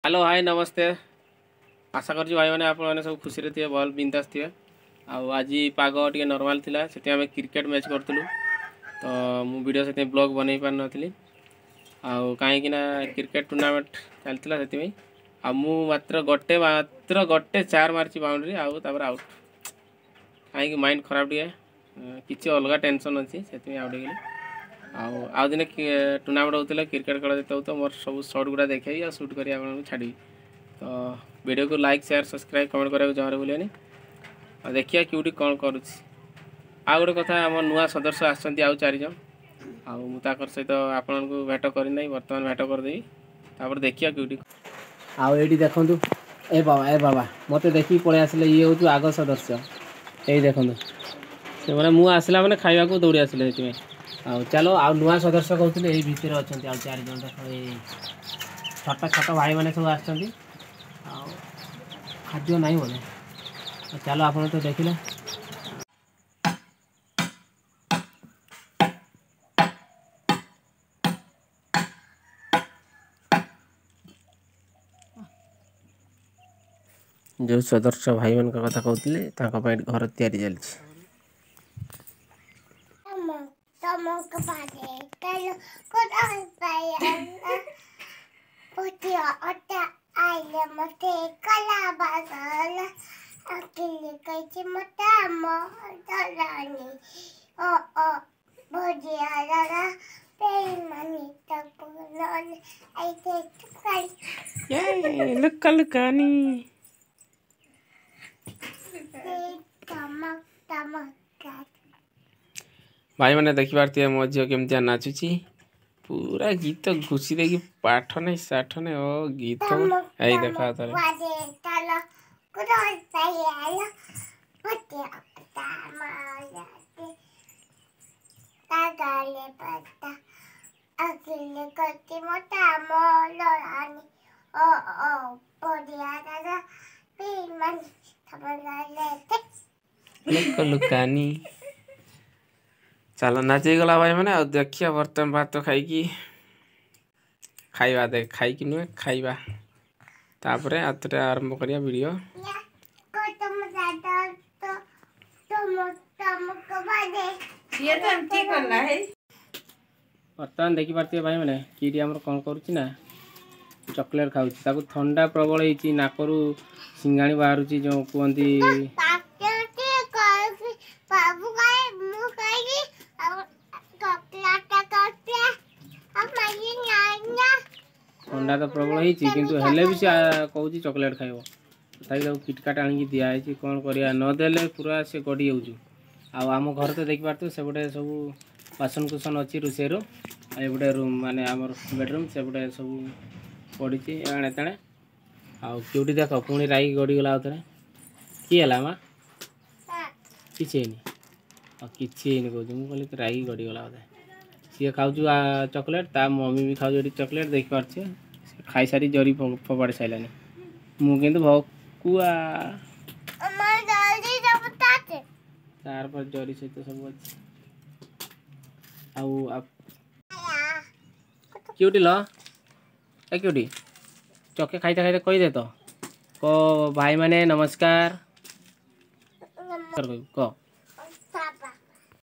Hello high ନମସ୍ତେ। ଆଶା କରୁଛି ଭାଇମାନେ, ଆପଣମାନେ ସବୁ ଖୁସିରେ ଥିବେ, ଭଲ ବିନ୍ଦାସ ଥିବେ। ଆଉ ଆଜି ପାଗ ଟିକେ ନର୍ମାଲ୍ ଥିଲା, ସେଥିପାଇଁ ଆମେ କ୍ରିକେଟ୍ ମ୍ୟାଚ୍ କରୁଥିଲୁ। ତ ମୁଁ ଭିଡ଼ିଓ ସେଥିପାଇଁ ବ୍ଲଗ୍ ବନେଇ ପାରିନଥିଲି, ଆଉ କାହିଁକି ନା କ୍ରିକେଟ୍ ଟୁର୍ଣ୍ଣାମେଣ୍ଟ ଚାଲିଥିଲା ସେଥିପାଇଁ। ଆଉ ମୁଁ ମାତ୍ର ଗୋଟେ ଚାର ମାରିଛି ବାଉଣ୍ଡ୍ରି, ଆଉ ତାପରେ ଆଉଟ୍। କାହିଁକି ମାଇଣ୍ଡ ଖରାପ ଟିକେ, କିଛି ଅଲଗା ଟେନସନ୍ ଅଛି, ସେଥିପାଇଁ ଆଉଟ୍ ହେଇଗଲି। ଆଉ ଆଉ ଦିନେ ଟୁର୍ଣ୍ଣାମେଣ୍ଟ ହେଉଥିଲେ, କ୍ରିକେଟ୍ ଖେଳ ଯେତେ ହେଉଥିବ, ମୋର ସବୁ ସର୍ଟ ଗୁଡ଼ା ଦେଖେଇବି ଆଉ ସୁଟ୍ କରି ଆପଣଙ୍କୁ ଛାଡ଼ିବି। ତ ଭିଡ଼ିଓକୁ ଲାଇକ୍, ସେୟାର, ସବସ୍କ୍ରାଇବ୍, କମେଣ୍ଟ କରିବାକୁ ଜମାରୁ ଭୁଲିବେନି। ଆଉ ଦେଖିବା କେଉଁଠି କ'ଣ କରୁଛି। ଆଉ ଗୋଟେ କଥା, ଆମ ନୂଆ ସଦସ୍ୟ ଆସିଛନ୍ତି ଆଉ ଚାରିଜଣ, ଆଉ ମୁଁ ତାଙ୍କର ସହିତ ଆପଣଙ୍କୁ ଭେଟ କରିନାହିଁ, ବର୍ତ୍ତମାନ ଭେଟ କରିଦେବି। ତାପରେ ଦେଖିବା କେଉଁଠି। ଆଉ ଏଇଠି ଦେଖନ୍ତୁ, ଏ ବାବା, ଏ ବାବା, ମୋତେ ଦେଖିକି ପଳେଇ ଆସିଲେ। ଇଏ ହେଉଛି ଆଗ ସଦସ୍ୟ। ଏଇ ଦେଖନ୍ତୁ, ସେମାନେ ମୁଁ ଆସିଲା ମାନେ ଖାଇବାକୁ ଦୌଡ଼ି ଆସିଲେ ସେଥିପାଇଁ। ଆଉ ଚାଲ, ଆଉ ନୂଆ ସଦସ୍ୟ କହୁଥିଲେ, ଏଇ ଭିତରେ ଅଛନ୍ତି ଆଉ ଚାରିଜଣ। ଦେଖ, ଏଇ ଛୋଟ ଛୋଟ ଭାଇମାନେ ସବୁ ଆସିଛନ୍ତି। ଆଉ ଖାଦ୍ୟ ନାହିଁ ବୋଧେ। ଚାଲ, ଆପଣ ତ ଦେଖିଲେ। ଯେଉଁ ସଦସ୍ୟ ଭାଇମାନଙ୍କ କଥା କହୁଥିଲି, ତାଙ୍କ ପାଇଁ ଘର ତିଆରି ଚାଲିଛି। ତମକୁ ପାରେ ପୁଟିଆ ଅଟା ଆଇଲେ ମତେ କଲା ବାସଲା ଆକିଲି କହିଛି ମତେ ମଦଲାନି ଓ ଓ ଭଜିଆ ଦାଦା ବେଇମାନି ତାକୁ ନହେଲେ ଆଇତେ କାଲି। ଲୁକା ଲୁକାନି। ତମକ ତମକ। ଭାଇମାନେ, ଦେଖିପାରୁଥିବେ ମୋ ଝିଅ କେମିତିଆ ନାଚୁଛି। ପୁରା ଗୀତ ଘୁଷି ଦେଇକି, ପାଠ ନାହିଁ ସାଠ ନାହିଁ, ଓ ଗୀତ। ଏଇ ଦେଖ ଥରେ। ବାଜେ ତାଲ କୁଦଲ ପାଇଆଲ ପୁଟିଆ ଅଟା ମାଲାତେ ତାଗାଲେ ପତା ଆକିଲି କହିଛି ମତେ ମଦଲାନି ଓ ଓ ଭଜିଆ ଦାଦା ବେଇମାନି ତମକୁ ଲୁକ ଲୁକାନି। ଚାଲ, ନାଚ ହେଇଗଲା ଭାଇମାନେ। ଆଉ ଦେଖିବା, ବର୍ତ୍ତମାନ ଭାତ ଖାଇକି ଖାଇବା, ଦେଖ, ଖାଇକି ନୁହେଁ, ଖାଇବା, ତାପରେ ଆଉଥରେ ଆରମ୍ଭ କରିବା ଭିଡ଼ିଓ। ତମ ଦାଦା ତ ତମ ତମକୁ ବାଜେ। ସିଏ ତ ଏମିତି କଲା ହେଇ। ବର୍ତ୍ତମାନ ଦେଖିପାରୁଥିବେ ଭାଇମାନେ, କିଟି ଆମର କ'ଣ କରୁଛି ନା ଚକୋଲେଟ୍ ଖାଉଛି। ତାକୁ ଥଣ୍ଡା ପ୍ରବଳ ହେଇଛି, ନାକରୁ ସିଙ୍ଗାଣି ବାହାରୁଛି ଯେଉଁ କୁହନ୍ତି। ବାବୁ କହେ, ମୁଁ କହିଲି ଆଉ ଚକୋଲେଟ କରିଥିଲା ଆଉ ମାଗି ନା। ଥଣ୍ଡା ତ ପ୍ରବଳ ହେଇଛି, କିନ୍ତୁ ହେଲେ ବି ସେ କହୁଛି ଚକୋଲେଟ୍ ଖାଇବ। ତଥାପି ତାକୁ କିଟକାଟ ଆଣିକି ଦିଆହେଇଛି। କ'ଣ କରିବା, ନଦେଲେ ପୁରା ସେ ଗଡ଼ି ଯାଉଛି। ଆଉ ଆମ ଘରେ ତ ଦେଖିପାରୁଥିବେ, ସେପଟେ ସବୁ ବାସନ କୁସନ ଅଛି ରୋଷେଇରୁ, ଆଉ ଏପଟେ ରୁମ୍, ମାନେ ଆମର ବେଡ଼ରୁମ୍, ସେପଟେ ସବୁ ପଡ଼ିଛି ଏଣେ ତେଣେ। ଆଉ କେଉଁଠି ଦେଖ, ପୁଣି ରାଗି ଗଡ଼ିଗଲା ଆଉ ଥରେ। କି ହେଲା ମା? କିଛି ହେଇନି। ଆଉ କିଛି ହେଇନି କହୁଛି। ମୁଁ କହିଲି ରାଗି ଗଡ଼ିଗଲା ବୋଧେ। ସିଏ ଖାଉଛୁ ଚକୋଲେଟ୍, ତା ମମି ବି ଖାଉଛି ଏଠି ଚକୋଲେଟ୍। ଦେଖିପାରୁଛି, ସେ ଖାଇସାରି ଜରି ଫୋପାଡ଼ି ସାରିଲାଣି। ମୁଁ କିନ୍ତୁ ଭକୁଆ। আমার ଜଲ୍ଦି ସବୁ ତାତେ। ତାର ପରେ ଜରି ସହିତ ସବୁ ଅଛି। ଆଉ କେଉଁଠି ଲ, ଏ କେଉଁଠି ଚକେ ଖାଇତେ ଖାଇତେ କହିଦେ ତ, କ, ଭାଇମାନେ ନମସ୍କାର କହିବୁ, କହ।